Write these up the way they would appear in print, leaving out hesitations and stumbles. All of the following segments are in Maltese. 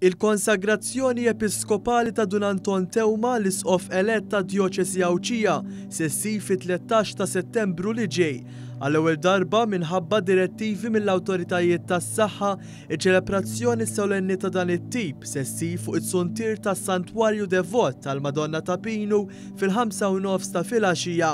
Il-konsagrazzjoni episkopali ta' Dun Anton Teuma, l-Isqof elett tad-Djoċesi Għawdxija, se ssir fit-13 ta' Settembru li ġej. Għall-ewwel darba, minħabba direttivi mill-awtoritajiet tas-saħħa, iċ-ċelebrazzjoni solenni ta' dan it-tip se ssir fuq it-suntier tas-Santwarju Devot tal-Madonna ta' Pinu fil-ħamsa u nofs ta' filgħaxija.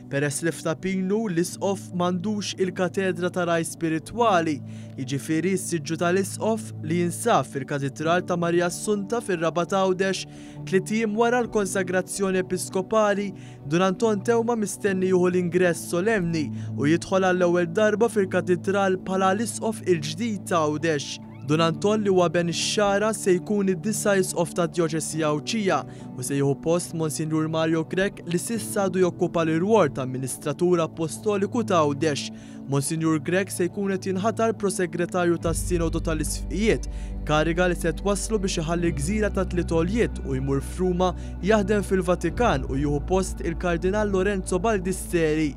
Peress li f'Ta' Pinu l-Isqof m'għandux il-katedra ta' ragħaj spiritwali, jiġifieri s-siġġu tal-Isqof li jinsab fil-Katidral ta' Marija Assunta fir-Rabat Għawdex, tliet ijiem wara l-konsagrazzjoni episkopali, Dun Anton Teuma mistenni jieħu l-ingress solemni u jidħol għall-ewwel darba fil-Katidral bħala l-Isqof il-ġdid ta' Għawdex. Dun Anton li huwa ben ix-Xagħra se jkun id-disa' Isqof tad-Djoċesi Għawdxija u se jieħu post Monsinjur Mario Grech li s'issa għadu jokkupa l-irwol ta' Amministratur Appostoliku ta' Għawdex. Monsinjur Grech se jkun qed jinħatar Prosegretarju tas-Sinodu tal-Isfqijiet, kariga li se twasslu biex iħalli l-gżira ta' Tliet Għoljiet u jmur f'Ruma jaħdem fil-Vatikan u jieħu post il-Kardinal Lorenzo Baldisseri.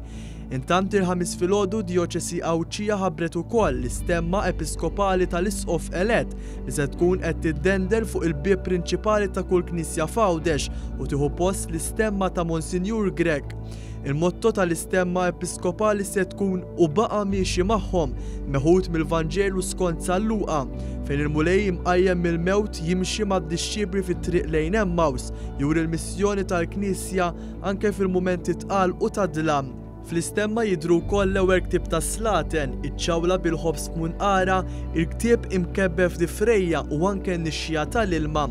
Intant il-Ħamis filgħodu d-Djoċesi Għawdxija ħabbret ukoll l-istemma episkopali tal-Isqof elett li se tkun qed tiddendel fuq il-bieb prinċipali ta' kull knisja f'Għawdex u tieħu post l-istemma ta' Monsinjur Grech. Il-motto tal-istemma episkopali se tkun U baqa' miexi magħhom, meħud mill-Vanġelu skont San Luqa, fejn il-Mulej imqajjem mill-mewt jimxi mad-dixxipli fit-triq lejn Emmaws, juri l-missjoni tal-Knisja anke fil-mumenti tqal u ta' dlam. Fl-istemma jidhru wkoll l-ewwel ktieb tas-Slaten, iċ-ċawla bil-ħobż f'munqarha, il-ktieb imkebbeb f'difrejja u anke n-nixxiegħa tal-ilma.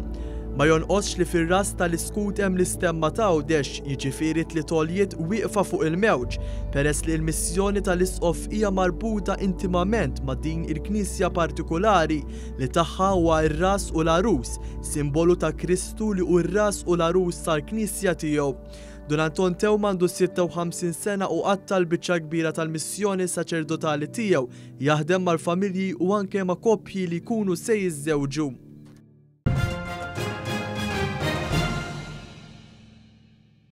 Ma jonqosx li fir-ras tal-iskut hemm l-istemma ta' Għawdex, jiġifieri tliet għoljiet wieqfa fuq il-mewġ, peress li l-missjoni tal-Isqof hija marbuta intimament ma' din il-knisja partikulari li tagħha huwa r-ras u l-għarus, simbolu ta' Kristu li hu r-ras u l-għarus tal-Knisja tiegħu. Dun Anton Teuma għandu 56 sena u qatta' l-biċċa l-kbira tal-missjoni saċerdotali tiegħu jaħdem mal-familji u anke ma' koppji li jkunu se jiżżewġu.